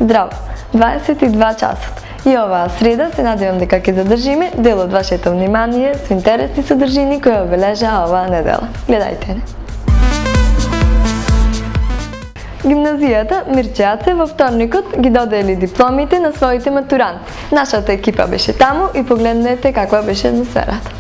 Здраво, 22 часот. И оваа среда се надевам дека ќе задржиме дел од вашето внимание со интересни содржини кои обележаа оваа недела. Гледајте не. Гимназијата Мирчеаце во вторникот ги додели дипломите на своите матуранти. Нашата екипа беше таму и погледнете каква беше атмосферата.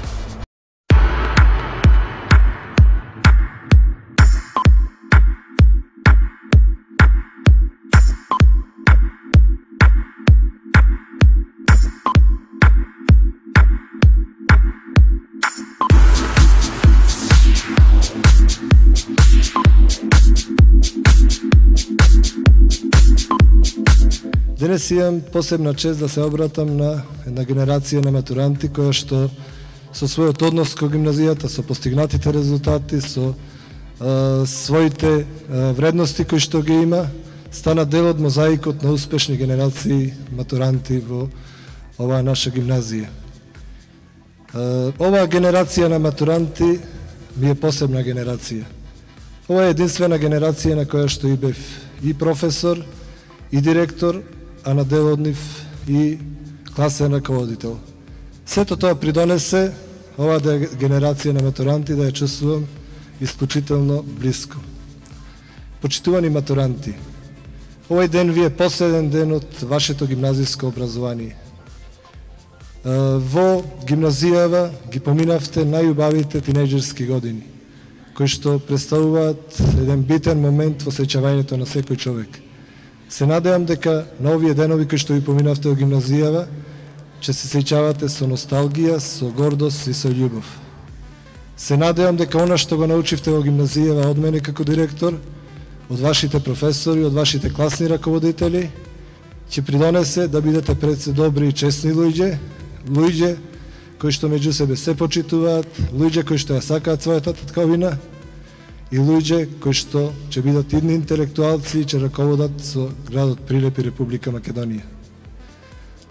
Денес имам посебна чест да се обратам на една генерација на матуранти која што со својот однос кон гимназијата, со постигнатите резултати, со своите вредности кои што ги има, стана дел од мозаикот на успешни генерации матуранти во оваа наша гимназија. Оваа генерација на матуранти ми е посебна генерација. Ова е единствена генерација на која што и бев и професор, и директор, а на дел од нив и класен раководител. Сето тоа придонесе оваа генерација на матуранти да ја чувствувам исклучително близко. Почитувани матуранти, овој ден ви е последен ден од вашето гимназиско образование. Во гимназијава ги поминавте најубавите тинејџерски години, кои што представуваат еден битен момент во сеќавањето на секој човек. Се надевам дека на овие денови кои што ви поминавте во гимназијава, ќе се сеќавате со носталгија, со гордост и со љубов. Се надевам дека она што го научивте во гимназијава од мене како директор, од вашите професори, од вашите класни раководители, ќе придонесе да бидете пред се добри и честни луѓе кои што меѓу себе се почитуваат, луѓе кои што ја сакаат својата татковина, и луѓе кои што ќе бидат идни интелектуалци и ќе раководат со градот Прилеп и Република Македонија.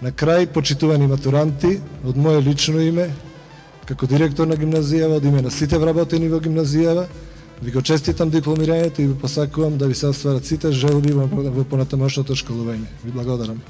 На крај, почитувани матуранти, од моје лично име, како директор на гимназијава, од име на сите вработени во гимназијава, ви го честитам дипломирањето и ви посакувам да ви се остварат сите желби во понатамошното школување. Ви благодарам.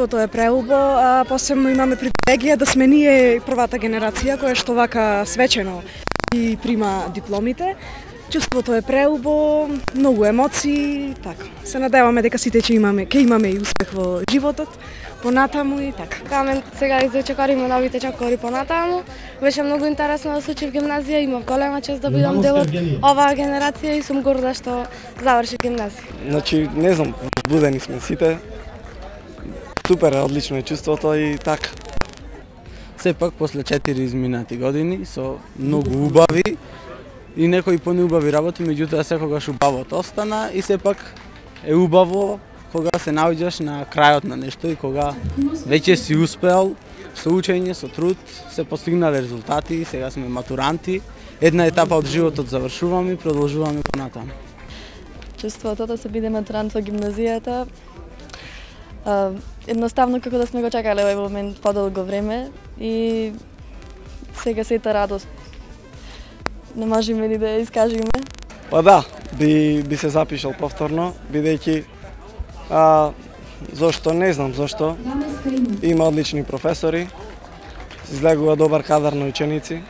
Тоа е преубо, а посебно имаме привилегија да сме ние првата генерација која што вака свечено и прима дипломите. Чувството е преубо, многу емоции, така. Се надеваме дека сите ќе имаме и успех во животот, понатаму и така. Камен сега изочекариме новите чекори понатаму. Беше многу интересно да се учи в гимназија, имав голема чест да бидам дел од оваа генерација и сум горда што завршив гимназија. Значи, не знам, возбудени сме сите. Супер, одлично е чувството и така. Сепак, после 4 изминати години, со многу убави и некои понеубави работи, меѓутоа секогаш убавото остана и сепак е убаво кога се наоѓаш на крајот на нешто и кога веќе си успеал со учење, со труд, се постигнале резултати, сега сме матуранти, една етапа од животот завршуваме и продолжуваме понатаму. Чувството да се биде матурант во гимназијата, едноставно како да сме го чекале овој момент подолго време и сега сета радост не можеме ли да ја искажеме? Па да, би се запишал повторно, бидејќи зошто, не знам зошто, има одлични професори, излегува добар кадар на ученици,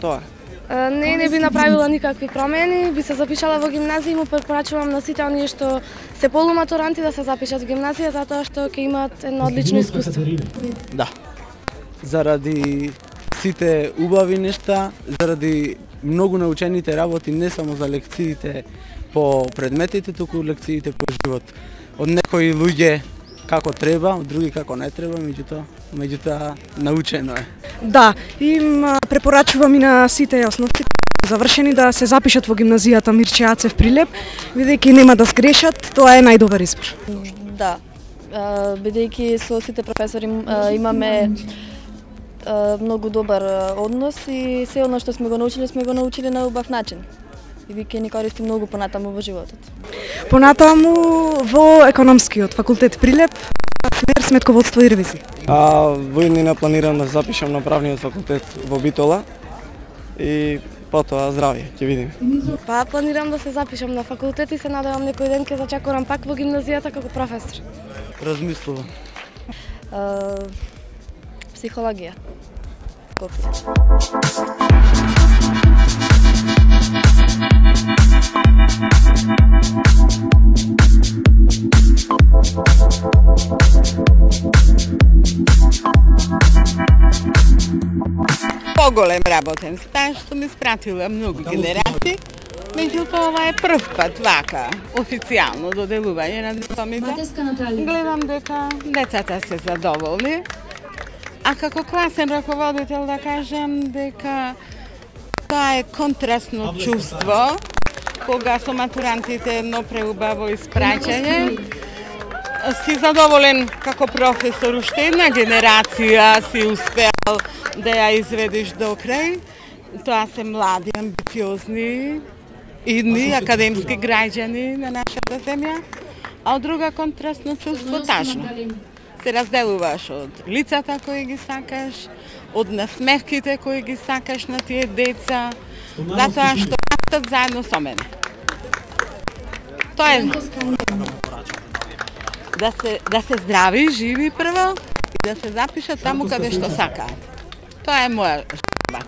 тоа е. Не би направила никакви промени, би се запишала во гимназија и му препорачувам на сите оние што се полуматуранти да се запишат во гимназија затоа што ќе имаат едно одлично искуство. Да. Заради сите убави нешта, заради многу научените работи, не само за лекциите по предметите, туку лекциите по живот. Од некои луѓе како треба, од други како не треба, меѓутоа научено е. Да, им препорачувам и на сите основци завршени да се запишат во гимназијата Мирче Ацев Прилеп, бидејќи нема да сгрешат, тоа е најдобар избор. Да, бидејќи со сите професори имаме многу добар однос и се оно што сме го научили на убав начин. И ќе ни користи многу понатаму во животот. Понатаму во економскиот факултет Прилеп, смер сметководство и ревизија. Во иднина планирам да запишам на правниот факултет во Битола и потоа здравје, ќе видиме. Па планирам да се запишам на факултет и се надевам некој ден ќе зачекорам пак во гимназијата како професор. Размислувам. Психологија. Поголем работен стаж, сум испратила многу генерации, меѓутоа ова е прв пат вака официјално доделување на дипломите. Гледам дека децата се задоволни, а како класен раководител да кажам дека тоа е контрастно чувство, кога со матурантите едно преубаво испраќање. Си задоволен како професор, уште една генерација си успеал да ја изведеш до крај. Тоа се млади, амбициозни, идни, академски граѓани на нашата земја, а од друга контрастно чувство тажно. Се разделуваш од лицата кои ги сакаш, од насмевките кои ги сакаш на тие деца, затоа што растат заедно со мене. Тоа е да се здрави, живи прво и да се запишат таму каде што сакаат. Тоа е моја желба.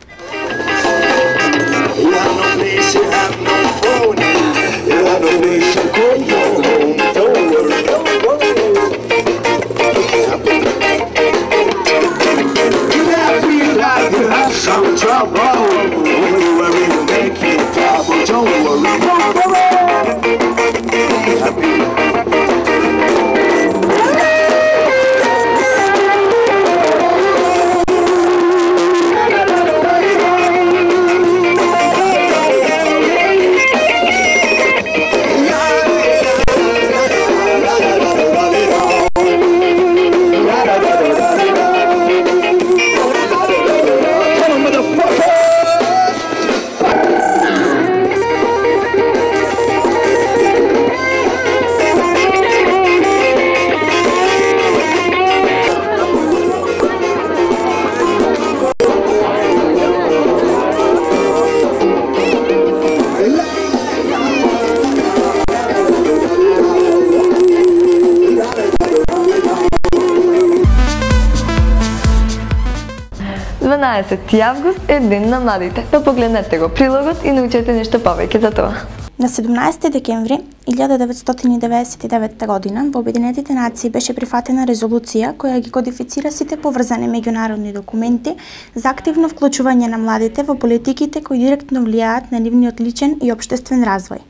Август е ден на младите, па погледнете го прилогот и научете нешто повеќе за тоа. На 17 декември 1999 година во Обединетите нации беше прифатена резолуција која ги кодифицира сите поврзани меѓународни документи за активно вклучување на младите во политиките кои директно влијаат на нивниот личен и општествен развој.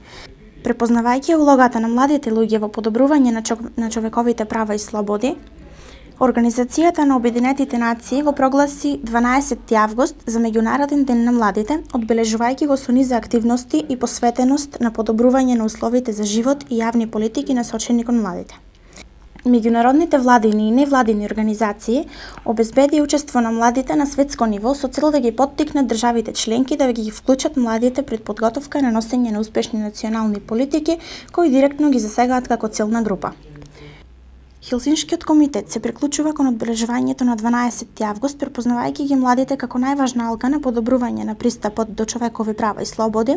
Препознавајќи улогата на младите луѓе во подобрување на човековите права и слободи, Организацијата на Обединетите нации го прогласи 12 август за Меѓународен ден на младите, одбележувајќи го со низа активности и посветеност на подобрување на условите за живот и јавни политики насочени кон младите. Меѓународните владини и невладини организации обезбеди учество на младите на светско ниво со цел да ги поттикнат државите членки да ги вклучат младите пред подготовка на носење на успешни национални политики кои директно ги засегаат како целна група. Хелсиншкиот комитет се приклучува кон одбележувањето на 12 август, препознавајќи ги младите како најважна алга на подобрување на пристапот до човекови права и слободи,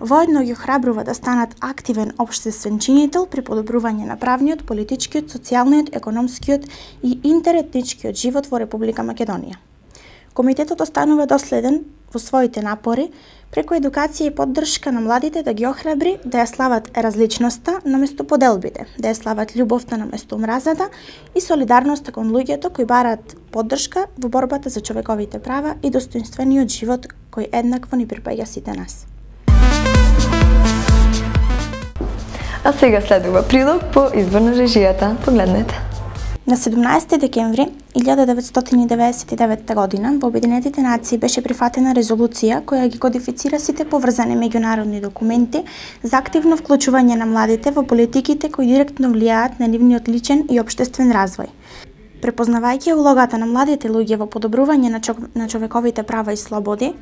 воедно ги охрабрува да станат активен општествен чинител при подобрување на правниот, политичкиот, социјалниот, економскиот и интеретничкиот живот во Република Македонија. Комитетот останува доследен во своите напори преку едукација и поддршка на младите да ги охрабри да ја слават различноста наместо поделбите, да ја слават љубовта наместо омразата и солидарноста кон луѓето кои бараат поддршка во борбата за човековите права и достоинствениот живот кој еднакво ни припаѓа сите нас. А сега следува прилог по избор на режијата. Погледнете. На 17 декември 1999 година во Обединетите нации беше прифатена резолуција која ги кодифицира сите поврзани меѓународни документи за активно вклучување на младите во политиките кои директно влијаат на нивниот личен и општествен развој. Препознавајќи улогата на младите луѓе во подобрување на човековите права и слободи,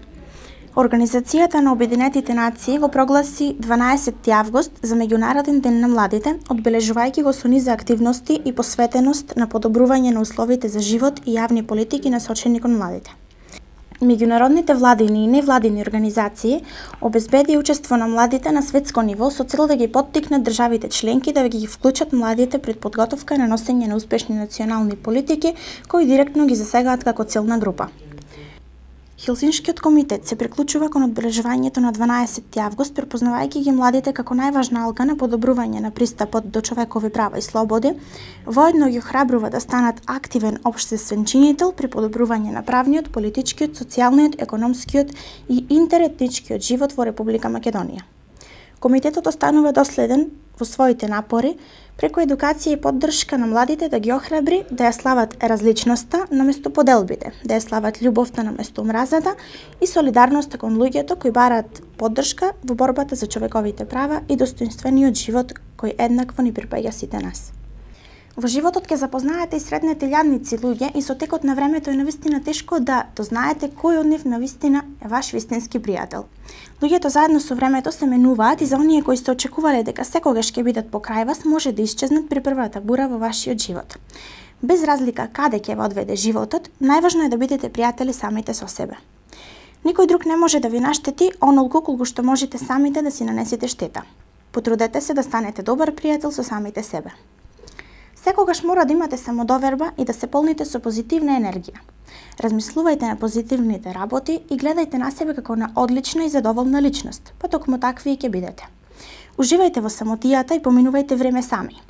Организацијата на Обединетите нации го прогласи 12 август за Меѓународен ден на младите, одбележувајќи го со низа активности и посветеност на подобрување на условите за живот и јавни политики насочени кон младите. Меѓународните владини и невладини организации обезбеди учество на младите на светско ниво со цел да ги поттикнат државите членки да ги вклучат младите пред подготовка на носење на успешни национални политики кои директно ги засегаат како целна група. Хелсиншкиот комитет се приклучува кон одбележувањето на 12 август, препознавајќи ги младите како најважна алга на подобрување на пристапот до човекови права и слободи, воедно ги охрабрува да станат активен општествен чинител при подобрување на правниот, политичкиот, социјалниот, економскиот и интеретничкиот живот во Република Македонија. Комитетот останува доследен во своите напори преку едукација и поддршка на младите да ги охрабри да ја слават различноста наместо поделбите, да ја слават љубовта наместо омразата и солидарноста кон луѓето кои бараат поддршка во борбата за човековите права и достоинствениот живот кој еднакво ни припаѓа сите нас. Во животот ќе запознаете и сретнете илјадници луѓе и со текот на времето е навистина тешко да дознаете кој од нив навистина е ваш вистински пријател. Луѓето заедно со времето се менуваат и за оние кои сте очекувале дека секогаш ќе бидат покрај вас, може да исчезнат при првата бура во вашиот живот. Без разлика каде ќе ве одведе животот, најважно е да бидете пријатели самите со себе. Никој друг не може да ви наштети онолку колку што можете самите да си нанесете штета. Потрудете се да станете добар пријател со самите себе. Секогаш мора да имате самодоверба и да се полните со позитивна енергија. Размислувајте на позитивните работи и гледајте на себе како на одлична и задоволна личност, па токму такви и ќе бидете. Уживајте во самотијата и поминувајте време сами.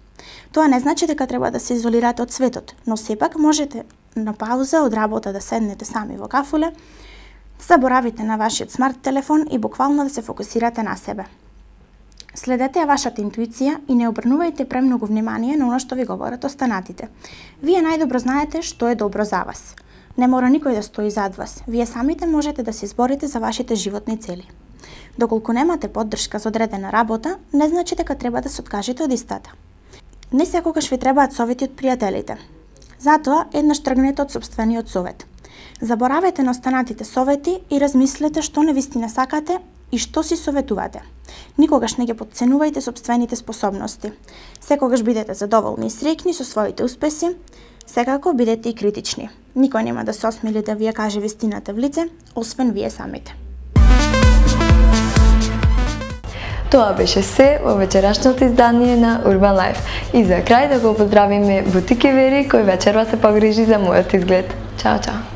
Тоа не значи дека треба да се изолирате од светот, но сепак можете на пауза од работа да седнете сами во кафуле, заборавите на вашиот смарт телефон и буквално да се фокусирате на себе. Следете ја вашата интуиција и не обрнувајте премногу внимание на оно што ви говорат останатите. Вие најдобро знаете што е добро за вас. Не мора никој да стои зад вас. Вие самите можете да се изборите за вашите животни цели. Доколку немате поддршка за одредена работа, не значи дека треба да се откажете од истата. Не секогаш ви требаат совети од пријателите. Затоа еднаш тргнете од сопствениот совет. Заборавете на останатите совети и размислете што навистина сакате и што си советувате. Никогаш не ги потценувајте сопствените способности. Секогаш бидете задоволни и среќни со своите успеси, секако бидете и критични. Никој нема да се осмели да ви ја каже вистината в лице, освен вие самите. Тоа беше се во вечерашното издание на Urban Life. И за крај да го поздравиме Бутики Вери, кој вечерва се погрижи за мојот изглед. Чао, чао!